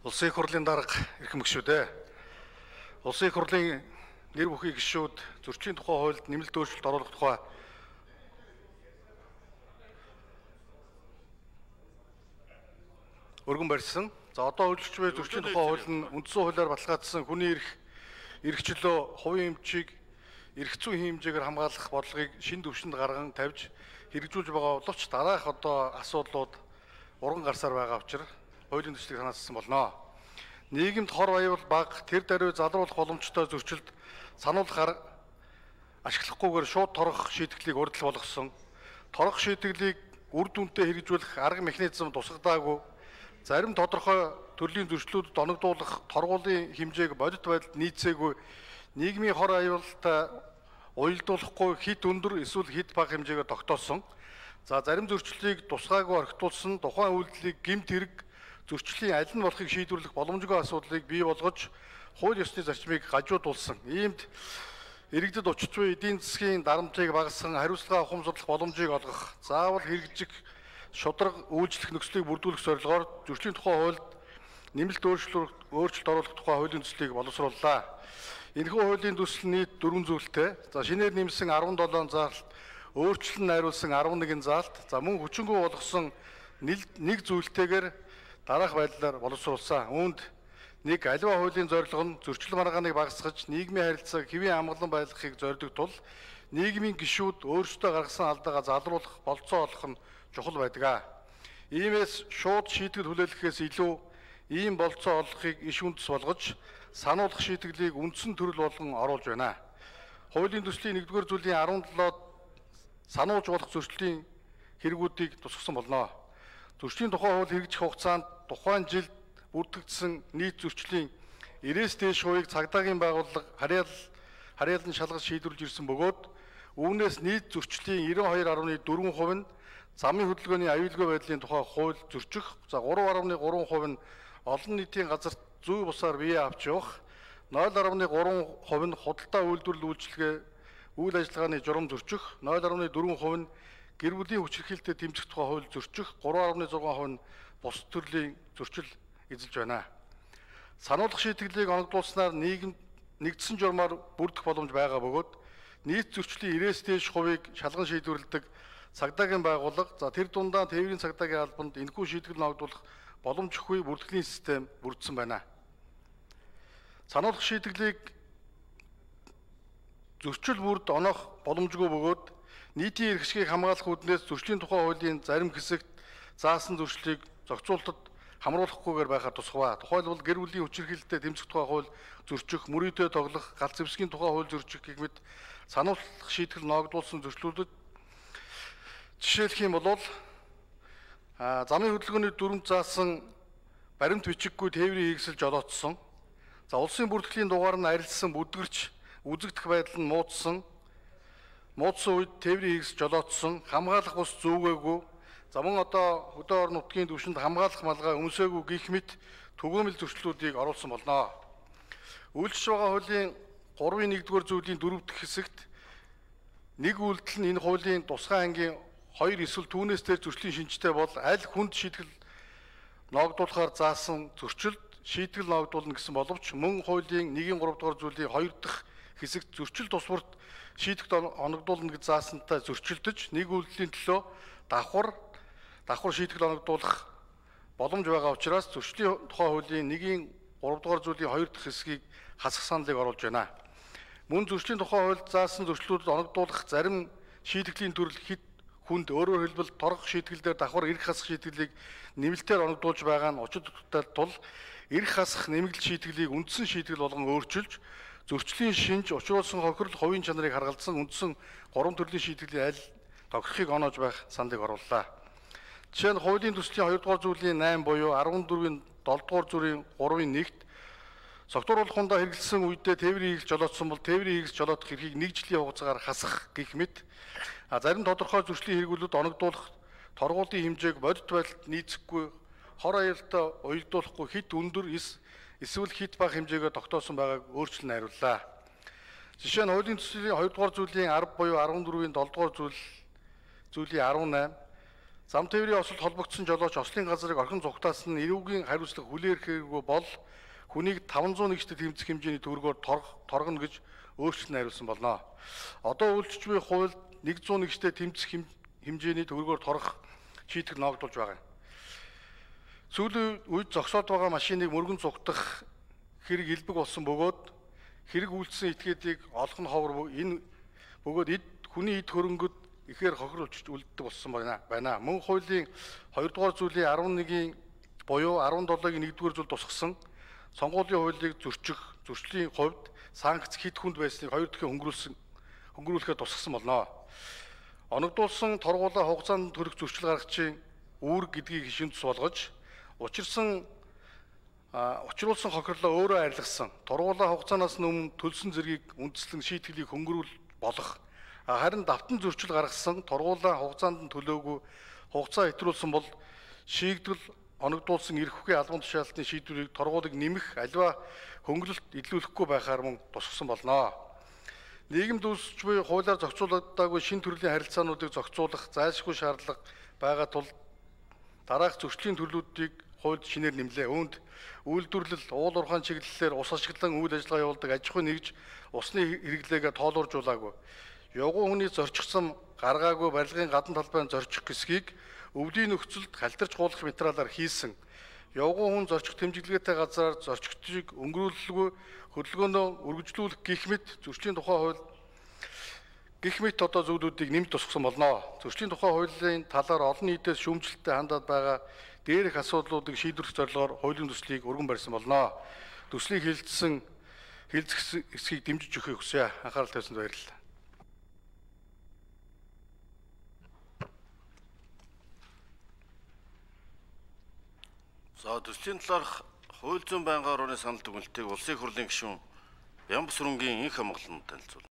Улсын их хурлын дарга эрхэм гишүүдээ. Улсын их хурлын нэр бүхий гишүүд зөрчлийн тухай хуульд нэмэлт өөрчлөлт оруулах тухай өргөн барьсан. За одоо үйлчлэгч буй зөрчлийн тухай хууль нь үндсэн хуулиар баталгаажсан хүний эрх чөлөө, хувийн эмчийг эрх зүйн хэмжээгээр хамгаалах бодлогыг шинэ түвшинд гарган тавьж хэрэгжүүлж байгаа боловч дараах одоо асуудлууд урган гарсаар байгаа учраас хуулийн төслийг санаачилсан болно. Нийгэмд хор аюул бага, тэр даруй залруулах боломжтой зөрчилд сануулахаар ашиглахгүйгээр шууд торох шийтгэлийг урьдчилан болгосон. Торох шийтгэлийг үр дүнтэй хэрэгжүүлэх арга механизм тусгадаагүй. Зарим тодорхой төрлийн зөрчлүүдэд оногдуулах торгуулийн хэмжээг бодит байдалд нийцээгүй. Нийгмийн хор аюултай уялдуулахгүй хит өндөр эсвэл хит бага хэмжээгээр тогтоосон. За зарим зөрчлөлийг тусгаагүй орхитуулсан тухайн үйлдэлийг гэмт хэрэг зөрчлийн аль нь болохыг шийдвэрлэх боломжгүй асуудлыг бий болгож хууль ёсны зарчмыг гажуудуулсан. Иймд иргэдэд учир буй эдийн засгийн дарамтыг багасган хариуцлага ухамсарлах боломжийг олгох, заавал хэрэгжих шударга үйлчлэх нөхцөлийг бүрдүүлэх зорилгоор зөрчлийн тухай хуульд нэмэлт өөрчлөлт оруулах тухай хуулийн төслийг боловсрууллаа. Энэхүү хуулийн төсөл нийт 4 зүйлтэй. За шинээр нэмсэн 17 заалт, өөрчлөлт найруулсан 11 заалт, за мөн хүчингү болгосон нэг зүйлтэйгээр дараах байдлаар боловсруулсан. Үүнд нэг аливаа хуулийн зорилго нь зөрчил маргааныг багасгаж нийгмийн харилцааг хэвийн амгалан байлгахыг зорддог тул нийгмийн гишүүд өөрсдөө гаргасан алдаагаа залруулах болцоо олох нь чухал байдаг. Иймээс шууд шийтгэл хүлээлгэхээс илүү ийм болцоо олохыг иш үндэс болгож сануулгах шийтгэлийг үндсэн төрөл болгон оруулж байна. Хуулийн төслийн 1-р зүйлийн 17-д сануулж болох зөрчлийн хэрэгүүдийг тусгасан болно. Зөрчлийн тухай хууль хэрэгжих хугацаанд тухайн жилд бүрдэгдсэн нийт зөрчлийн 90-с дээш хувийг цагдаагийн байгууллага харьяалан шалгаж шийдвэрлэж ирсэн бөгөөд үүнээс нийт зөрчлийн 92.4% нь замын хөдөлгөөний аюулгүй байдлын тухай хууль зөрчих, за 3.3% нь олон нийтийн газарт зүй бусаар бие авч явах, 0.3% нь худалдаа үйлдвэрлэл үйлчилгээ үйл ажиллагааны журам зөрчих, 0.4% нь гэр бүлийн хүчирхийлэлтэд тэмцэх тухай хууль зөрчих, 3.6% нь бус төрлийн зөрчил эзэлж байна. Сануулгах шийтгэлийг оногдуулснаар нийгэмд нэгдсэн журмаар бүрдэх боломж байгаа бөгөөд нийт зөрчлийн 90-с дээш хувийг шалган шийдвэрлэдэг цагдаагийн байгууллага, за тэр дундаа тээврийн цагдаагийн албанд энэхүү шийтгэл оногдуулах боломжгүй бүртгэлийн систем бүрдсэн байна. Сануулгах шийтгэлийг зөрчил бүрд оноох боломжгүй бөгөөд нийтийн эрх ашигыг хамгаалах үүднээс зөрчлийн тухай хуулийн зарим хэсэгт заасан зөрчлийг зохицуулалтад хамруулахгүйгээр байхаар тусгав. Тухайлбал гэр бүлийн хүчирхийлэлтэд тэмцэх тухай хууль зөрчих, мөрөөдөө тоглох, галт зэвсгийн тухай хууль зөрчих гэх мэт сануулгах шийтгэл ногдуулсан зөрчлүүдэд жишээлх юм бол замын хөдөлгөөний дүрмд заасан баримт бичиггүй тээврийн хийгсэл жолоодсон. За улсын бүртгэлийн дугаар нь арилсан бүдгэрч үзэгдэх байдал нь муудсан үед тээврийн хийгс жолоодсон, хамгаалах бус зүүгээгүй. За мөн одоо хөдөө орон нутгийн түвшинд хамгаалах малгай өмсөөгүй гэх мэт түгээмэл зөрчлүүдийг оруулсан болно. Үйлчлж байгаа хуулийн 3-ын 1-р зүйлийн 4 дахь хэсэгт нэг үйлдэл нь энэ хуулийн тусгай ангийн 2 эсвэл түүнээс дээр зөрчлийн шинжтэй бол аль хүнд шийтгэл ногдуулахаар заасан зөрчилд шийтгэл ногдуулна гэсэн боловч мөн хуулийн 1-ийн 3-р зүйлийн 2 дахь хэсэгт зөрчил тусварт шийтгэл оногдуулна гэж заасантай зөрчилдөж нэг үйлдэлийн төлөө давхар шийтгэл оногдуулах боломж байгаа учраас зөрчлийн тухай хуулийн 1-ийн 3-р зүйлийн 2 дахь хэсгийг хасах саналыг оруулж байна. Мөн зөрчлийн тухай хуульд заасан зөрчлүүдэд оногдуулах зарим шийтгэлийн төрөл хэд хүнд, өөрөөр хэлбэл торгох шийтгэлээр давхар эрх хасах шийтгэлийг нэмэлтээр оногдуулж байгаа нь учир туттай тул эрх хасах нэмэгдэл шийтгэлийг үндсэн шийтгэл болгон өөрчилж зөрчлийн шинж учруулсан хохирол хувийн чанарыг харгалзсан үндсэн 3 төрлийн шийтгэлийн аль тохирохыг оноож байх саналыг орууллаа. Жишээ нь хуулийн төслийн 2-р зүйлийн 8 буюу 14-ийн 7-р зүрийн 3-ын 1-т согтууруулах хундаа хэрэгэлсэн үедээ тээврийн хийгс жолоодсон бол тээврийн хийгс жолоодох эрхийг 1 жилийн хугацаагаар хасах гэх мэт зарим тодорхой зөрчлийн хэрэглүүд оногдуулах торгуулийн хэмжээг бодит байдалд нийцэхгүй хор аюултай уялдуулахгүй хит өндөр эсвэл хит бага хэмжээгээр тогтоосон байгааг өөрчлөн найрууллаа. Жишээ нь хуулийн төслийн 2-р зүйлийн 10 буюу 14-ийн 7-р зүйлийн 18 Зам тээврийн осолд холбогдсон жолооч ослын газрыг орхин зугтаасан нь эрүүгийн хариуцлага хүлээхгүй бол хүнийг 501-т тэмцэх хэмжээний төгрөгөөр торгоно гэж өөрчлөлт найруулсан болно. Одоо үйлчлж буй хуульд 101-т тэмцэх хэмжээний төгрөгөөр торгох шийтгэл ногдуулж байгаа юм. Сүүлийн үед зогсоод байгаа машиныг мөргөн зугтах хэрэг илбэг болсон бөгөөд хэрэг үйлдсэн этгээдийг олох нь ховор энэ бөгөөд хүний эд хөрөнгөд ихээр хохируулж үлддэг болсон байна. Мөн хуулийн 2 дугаар зүйлийн 11-ийн буюу 17-гийн 1-р зүйл тусгасан сонгуулийн хуулийг зөрчлийн хувьд санкц хэд хүнд байсныг 2 дахин хөнгөрүүлэхэд тусгасан болно. Оногдуулсан торгуулаа хугацаанд төрөх зөрчил гаргачийн үүрэг гэдгийг хишин тус болгож учруулсан хохирлоо өөрөө арилгасан торгуулаа хугацаанаас өмнө төлсөн зэргийг үндэслэн шийтгэлийг хөнгөрүүл болох харин давтан зөрчил гаргасан торгуулаа хугацаанд нь төлөөгүй хугацаа хэтрүүлсэн бол шийдвэр оногдуулсан эрх хүхийн албан тушаалтын шийдвэрийг торгуулийг нэмэх аливаа хөнгөлөлт илрүүлэхгүй байхаар мөн тусгасан болно. Нийгэмд үүсч буй хуулиар зохицуулагдаагүй шинэ төрлийн харилцаануудыг зохицуулах зайлшгүй шаардлага байгаа тул дараах зөрчлийн төрлүүдийг хуульд шинээр нэмлээ. Үүнд үйлдвэрлэл, уул уурхайн чиглэлээр ус ашиглан үйл ажиллагаа явуулдаг аж ахуйн нэгж усны хэрэглээгээ тоолууржуулаагүй. Явган хүний зорчигсон гаргаагүй барилгын гадна талбайн зорчих хэсгийг өвлийн нөхцөлд халтарч гуулах материалаар хийсэн. Явган хүн зорчих тэмдэглэгээтэй газраар зорчигчийг өнгөрүүлэлгүй хөдөлгөөнөө үргэлжлүүлэх гэх мэт зөрчлийн тухай хууль гэх мэт одоо зүйлүүдийг нэмж тусгасан болно. Зөрчлийн тухай хуулийн талаар олон нийтээс шүүмжлэлтэй хандаад байгаа дээрх асуудлуудыг шийдвэрлэх зорилгоор хуулийн төслийг өргөн барьсан болно. Төслийг хэлэлцэх эсхийг дэмжиж өгөхийг хүсье. Анхаарал тавьсанд баярлалаа. За төслийн талаарх хууль зүйн байнгын орны санал дүгнэлтийг улсын хурлын гишүүн Ямбас Сүрэнгийн энх хамгаалалтанд танилцуулна.